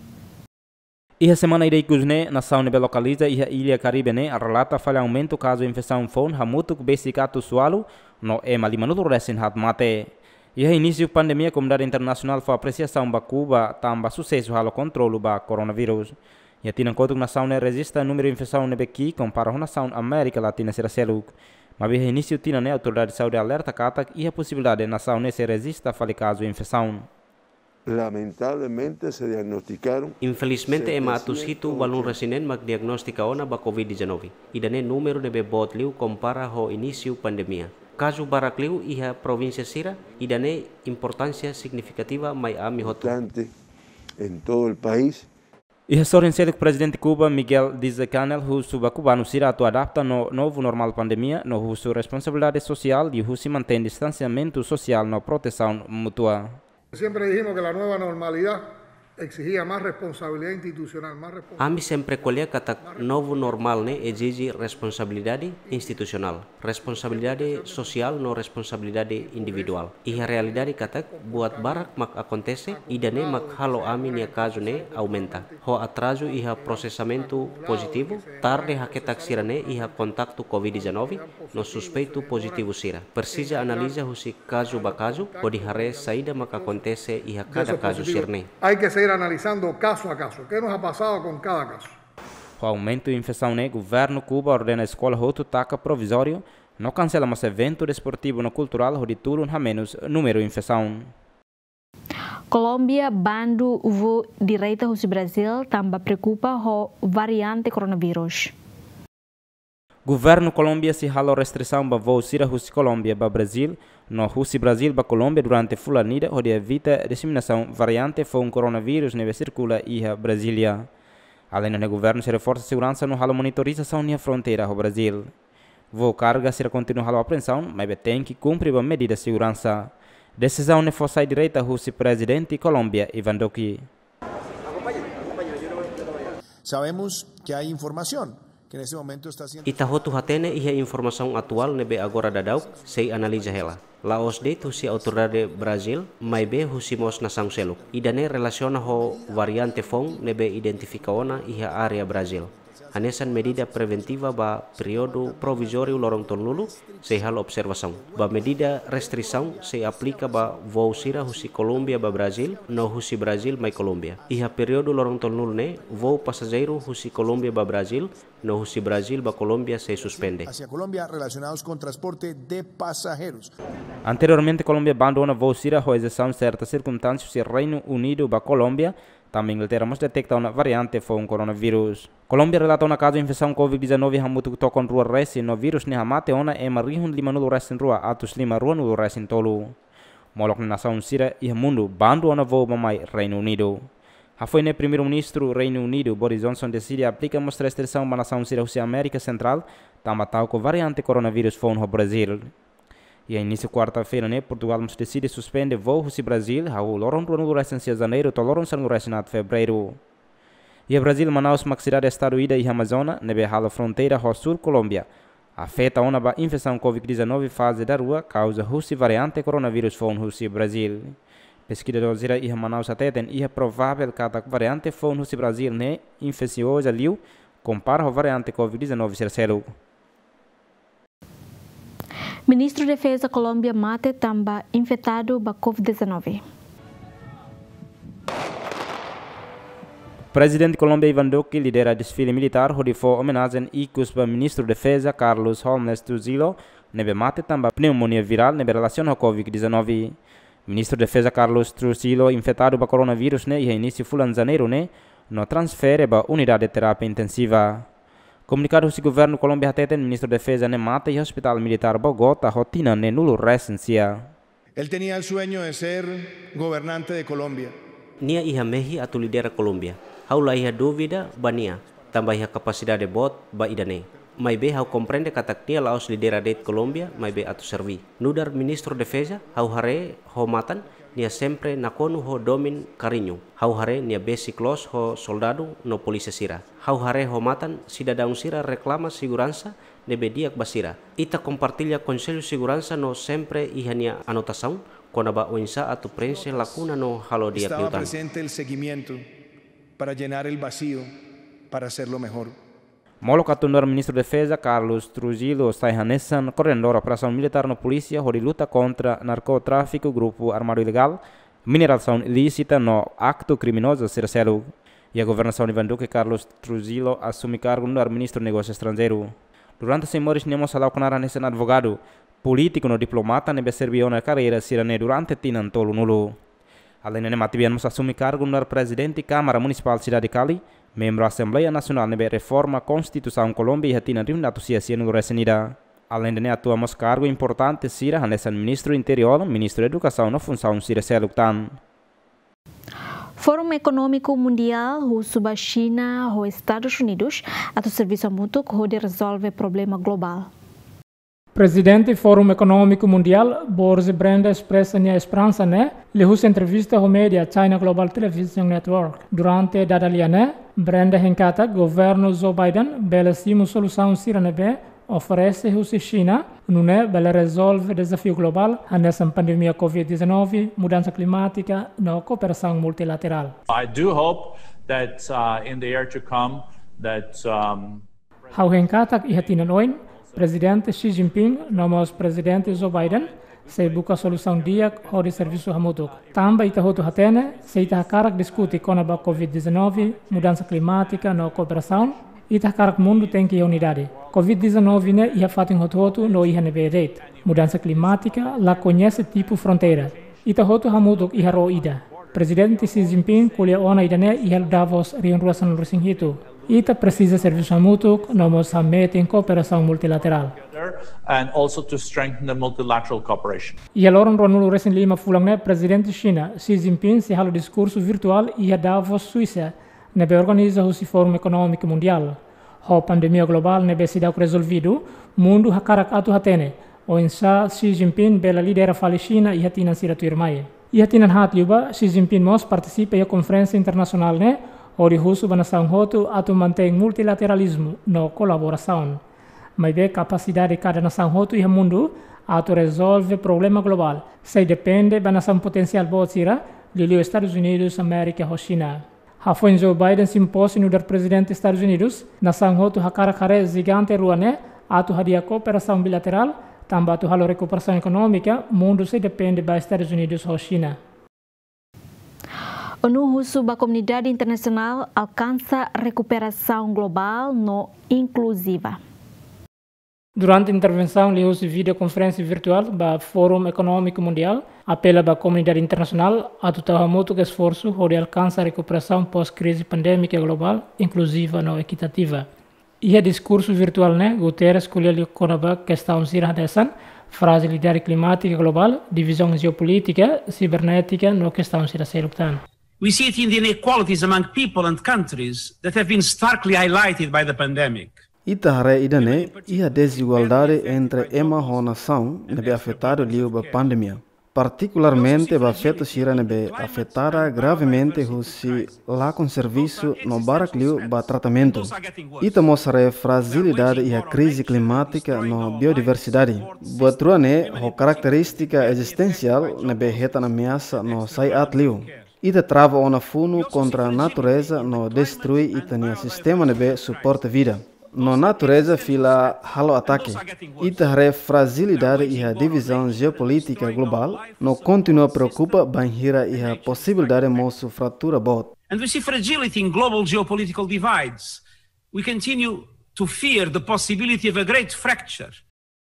Iha semana ida ikus ne'e, nasaun ne'ebé lokaliza iha illa Karibe ne'e relata fali aumentu kazu infesaun foun hamutuk besik atus ualu no ema limanulu resin haat mate. Iha inísiu pandemia, komunidade internasionál fó apresiasaun ba Kuba tanba susesu halo kontrolu ba koronavírus. Iha tinan kotuk nasaun ne'e rejista númeru infesaun ne'ebé ki'ik kompara ho nasaun Amérika Latina sira seluk. Maibé iha inísiu tinan ne'e autoridade saúde alerta katak iha posibilidade nasaun ne'e sei rejista fali kazu infesaun. Lamentablemente se diagnosticaron. Infelizmente ema atus hitu balun resin neen mak diagnostika ona ba covid dezanove. Ida-ne'e númeru ne'ebé boot liu kompara ho inísiu pandemia. Kazu barak liu iha provínsia sira, ida-ne'e importánsia signifikativa mai ami hotu. Importante en todo el país. Iha sorin seluk Prezidente Kuba, Miguel Díaz-Canel, husu ba kubanu sira atu adapta no novu normál pandemia, no husu responsabilidade sosiál liuhusi mantein distansiamentu sosiál no protesaun mútua. Siempre dijimos que la nueva normalidad exigía más responsabilidad institucional, más responsabilidad. Ami sempre ko'alia katak novu normál ne'e ezije responsabilidade institusionál, responsabilidade sosiál no responsabilidade individuál. Iha realidade katak buat barak mak akontese, ida-ne'e mak halo ami-nia kazu ne'e aumenta. Ho atrazu iha prosesamentu pozitivu, tarde haketak sira-ne'e iha kontaktu covid dezanove no suspeitu pozitivu sira. Presiza analiza husi kazu ba kazu, hodi haree saida mak akontese iha kada kazu sira-ne'e. Hay que seguir analizando caso a caso. ¿Qué nos ha pasado con cada caso? Ho aumentu infesaun ne'e, governu Kuba ordena eskola hotu taka provizóriu, no kansela mós eventu desportivu no kulturál hodi tulun hamenus númeru infesaun. Kolómbia bandu voo direta husi Brazil tanba preokupa ho variante koronavírus. Governu Kolómbia sei halo restrisaun ba voo sira husi Kolómbia ba Brazil, no husi Brazil ba Kolómbia durante fulan ida hodi evita diseminasaun variante foun koronavírus ne'ebé sirkula iha Brazília. Aleinde ne'e governu sei reforsa seguransa no halo monitorizasaun iha fronteira ho Brazil. Voo karga sira kontinua halo apreensaun, maibé tenke kumpre ba medida seguransa. Desizaun ne'e fó sai direta husi Prezidente Kolómbia, Iván Duque. Sabemos que hay información que en este momento está siendo. Ita hotu hatene iha informasaun atuál ne'ebé agora daudaun sei analiza hela. La'ós de'it husi autoridade Brazil, maibé husi mós nasaun seluk. Ida-ne'e relasiona ho variante foun ne'ebé identifika ona iha área Brazil. Hanesan medida preventiva ba períodu provizóriu loron tolunulu, sei halo observasaun. Ba medida restrisaun sei aplika ba voo sira husi Kolómbia ba Brazil, no husi Brazil mai Kolómbia. Iha períodu loron tolunulu ne'e, voo pasajeiru husi Kolómbia ba Brazil, no husi Brazil ba Kolómbia sei suspende. Hacia Colombia relacionados con transporte de pasajeros. Anteriormente, Kolómbia bandu ona voo sira ho exesaun serta sirkunstánsia husi Reinu Unidu ba Kolómbia, tanba Inglaterra mós deteta ona variante foun koronavírus. Kolómbia relata ona kazu infesaun covid dezanove hamutuk tokon rua resin no vírus ne'e hamate ona ema rihun limanulu resin rua atus lima ruanulu resin tolu. Molok ne'e nasaun sira iha mundu bandu ona voo bá-mai Reinu Unidu. Hafoin ne'e Primeiru-Ministru Reinu Unidu, Boris Johnson, deside aplika mós restrisaun ba nasaun sira husi Amérika Sentrál, tanba ta'uk ho variante koronavírus foun ho Brazil. Iha inísiu kuarta-feira ne'e, Portugal mós deside suspende voo husi Brazil, hahú loron ruanulu resin sia Janeiru to'o loron sanulu resin haat Fevereiru. Iha Brazil, Manaus mak sidade-estadu ida iha Amazónia, ne'ebé halo fronteira ho súl Kolómbia, afeta ona ba infesaun covid dezanove faze darua, kauza husi variante koronavírus foun husi Brazil. Peskizadór sira iha Manaus hateten iha provável katak variante foun husi Brazil ne'e infesioza liu, kompara ho variante covid dezanove sira seluk. Ministru Defeza Kolómbia mate tanba infetadu ba covid dezanove. Prezidente Kolómbia Ivan Duque lidera desfile militár hodi fó omenajen ikus ba Ministru Defeza Carlos Holmes Trujillo, ne'ebé mate tanba pneumonia virál ne'ebé relasiona ho covid dezanove. Ministru Defeza Carlos Trujillo infetadu ba koronavírus ne'e iha inísiu fulan Janeiru ne'e, no transfere ba unidade terapia intensiva. Komunikadu husi governu Kolómbia hateten Ministru Defeza ne'e mate iha Hospitál Militár Bogotá ho tinan neenulu resin sia. Él tenía el sueño de ser gobernante de Colombia. Nia iha mehi atu lidera Kolómbia. Ha'u la iha dúvida ba nia, tanba iha kapasidade boot ba ida-ne'e. Maibé ha'u komprende katak nia la'ós lidera de'it Kolómbia, maibé atu serví. Nu'udar Ministru Defeza, ha'u haree ho matan, nia sempre nakonu ho domin kariñu. Ha'u haree nia besik loos ho soldadu no polísia sira. Ha'u haree ho matan sidadaun sira reklama seguransa ne'ebé di'ak ba sira. Ita kompartilla Konsellu Seguransa no sempre iha nia anotasaun kona-ba oinsá atu prenxe lakuna no halo di'ak liután. Estaba presente el seguimiento para llenar el vacío, para hacerlo mejor. Molok atu nu'udar Ministru Defeza Carlos Trujillo sai hanesan koordenadór operasaun militár no polísia hodi luta kontra narkotráfiku, grupu armadu ilegál, minerasaun ilísita no aktu kriminozu sira seluk. Iha governasaun Ivan Duque, Carlos Trujillo asume kargu nu'udar Ministru Negósiu Estranjeiru. Durante sai moris nia mós hala'o knaar hanesan advogadu, polítiku no diplomata ne'ebé serví ona karreira sira-ne'e durante tinan tolunulu. Alende ne'e matebian mós asume kargu nu'udar Prezidente Kámara Munisipál Sidade Cali, membru Asembleia Nasionál ne'ebé reforma Konstituisaun Kolómbia iha tinan rihun atus sia sianulu resin ida. Alende ne'e atua mós kargu importante sira hanesan Ministru Interiór, Ministru Edukasaun no funsaun sira seluk tan. Fórum Ekonómiku Mundiál husu ba Xina ho Estadus Unidus atu servisu hamutuk hodi rezolve problema globál. Prezidente Fórum Ekonómiku Mundiál, Borge Brende espresa nia esperansa ne'e liuhusi entrevista ho média China Global Television Network. Durante dada lia ne'e, Brende hein katak governu Joe Biden bele simu solusaun sira ne'ebé oferese husi Xina, nune'e bele rezolve dezafiu globál hanesan pandemia covid dezanove, mudansa klimátika no kooperasaun multilaterál. I do hope that, uh, in the year to come, that, um, Ha'u hein katak iha tinan oin, Prezidente Xi Jinping no mós Prezidente Joe Biden sei buka solusaun di'ak hodi servisu hamutuk. Tanba ita hotu hatene, se ita hakarak diskute kona-ba covid dezanove, mudansa klimátika no kooperasaun, ita hakarak mundu tenke iha unidade. Covid dezanove ne'e iha fatin hotu-hotu no iha ne'ebé de'it. Mudansa klimátika la koñese tipu fronteira. Ita hotu hamutuk iha ró ida. Prezidente Xi Jinping ko'alia ona ida-ne'e iha Davos rihun rua sanulu resin hitu. Ita presiza servisu hamutuk no mós hametin kooperasaun multilaterál. And also to strengthen the multilateral cooperation. Iha loron ruanulu resin lima fulan ne'e, Prezidente Xina, Xi Jinping sei halo diskursu virtuál iha Davos, Suisa, ne'ebé organiza husi Fórum Ekonómiku Mundiál. Ho pandemia globál ne'ebé seidauk rezolvidu, mundu hakarak atu hatene oinsá Xi Jinping bele lidera fali Xina iha tinan sira tuirmai. Iha tinan haat liubá, Xi Jinping mós partisipa iha konferénsia internasionál ne'e, hodi husu ba nasaun hotu atu mantein multilateralizmu no kolaborasaun. Maibé kapasidade kada nasaun hotu iha mundu atu rezolve problema globál sei depende ba nasaun potensiál boot sira, liuliu Estadus Unidus Amérika ho Xina. Hafoin Joe Biden simu pose nu'udar Prezidente Estadus Unidus, nasaun hotu hakarak haree jigante rua ne'e atu hadi'a kooperasaun bilaterál, tanba atu halo rekuperasaun ekonómika, mundu sei depende ba Estadus Unidus ho Xina. ONU husu ba komunidade internasionál alkansa rekuperasaun globál no inkluziva. Durante intervensaun liuhusi videokonferénsia virtuál ba Fórum Ekonómiku Mundiál, apela ba komunidade internasionál atu tau hamutuk esforsu hodi alkansa rekuperasaun pós-krize pandémika globál, inkluziva no ekitativa. Iha diskursu virtuál ne'e, Guterres ko'alia liu kona-ba kestaun sira hanesan frajilidade klimátika globál, divizaun jeopolítika, sibernétika no kestaun sira seluk tan. We see it in the inequalities among people and countries that have been starkly highlighted by the pandemic. Ita haree ida-ne'e iha dezigualdade entre ema ho nasaun ne'ebé afetadu liu ba pandemia. Partikularmente ba feto sira ne'ebé afetada gravemente husi lakon servisu no barak liu ba tratamentu. Ita mós haree frajilidade iha krize klimátika no biodiversidade. Buat rua ne'e ho karakterístika ezistensiál ne'ebé hetan ameasa no sai aat liu. Ita trava ona funu kontra natureza no destrui ita-nia sistema ne'ebé suporta vida. No natureza fila halo atake. Ita haree frajilidade iha divizaun jeopolítika globál, no kontinua preokupa bainhira iha posibilidade mosu fratura boot. And we see fragility in global geopolitical divides. We continue to fear the possibility of a great fracture.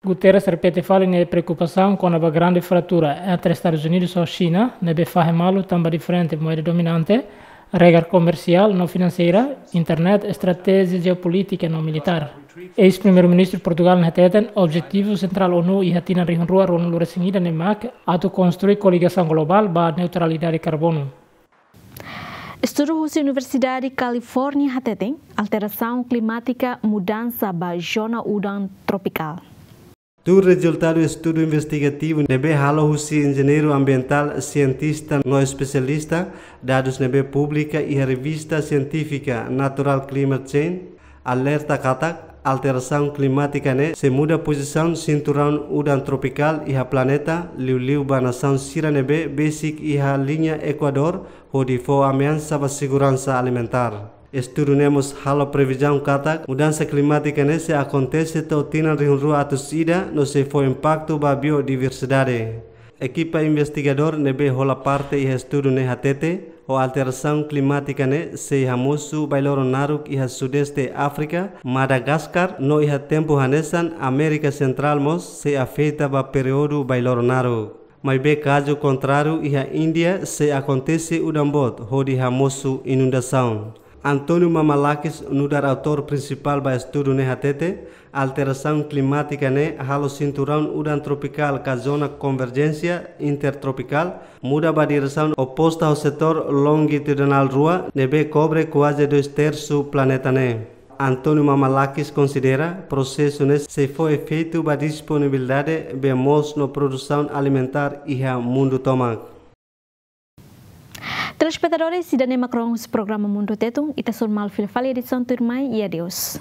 Guterres repete fali nia preokupasaun kona-ba grande fratura entre Estadus Unidus ho Xina, ne'ebé fahe malu tanba diferente moeda dominante, regra komersiál no finanseira, internet, estratéjia jeopolítika no militár. Eis-Primeiru-Ministru Portugál nia hateten, objetivu sentrál ONU iha tinan rihun rua ruanulu-resin-ida ne'e mak atu konstrui koligasaun globál ba neutralidade karbonu. Estudu husi Universidade Kalifórnia hateten, alterasaun klimátika mudansa ba zona udan tropikál. Tuir rezultadu estudu investigativu ne'ebé halo husi enjeñeiru ambientál, sientista no espesialista, dadus ne'ebé publika iha revista sientífika Natural Climate Change, alerta katak alterasaun klimátika ne'e sei muda pozisaun sinturaun udan tropikál iha planeta, liuliu ba nasaun sira ne'ebé besik iha liña ekuadór, hodi fó ameasa ba seguransa alimentár. Estudu ne'e mós halo previzaun katak mudansa klimátika ne'e sei akontese to'o tinan rihun rua atus ida no sei fó impaktu ba biodiversidade. Ekipa investigadór ne'ebé hola parte iha estudu ne'e hatete, ho alterasaun klimátika ne'e sei hamosu bailoro naruk iha Sudeste Áfrika, Madagaskar, no iha tempu hanesan Amérika Sentrál mós sei afeta ba períodu bailoro naruk. Maibé kazu kontráriu iha Índia sei akontese udan boot hodi hamosu inundasaun. António Mamalakis, nu'udar autór prinsipál ba estudu ne'e hatete, alterasaun klimátika ne'e halo sinturaun udan tropikál ka zona konverjénsia intertropikál muda ba diresaun oposta ho setór longitudinál rua ne'ebé kobre kuaze dois tersu planeta ne'e. António Mamalakis konsidera prosesu ne'e sei fó efeitu ba disponibilidade bee moos no produsaun alimentár iha mundu tomak. Telespetadores, ida-ne'e mak rona husi programa Mundu Tetun, ita sei hasoru malu fila fali edisaun tuirmai, i adeus.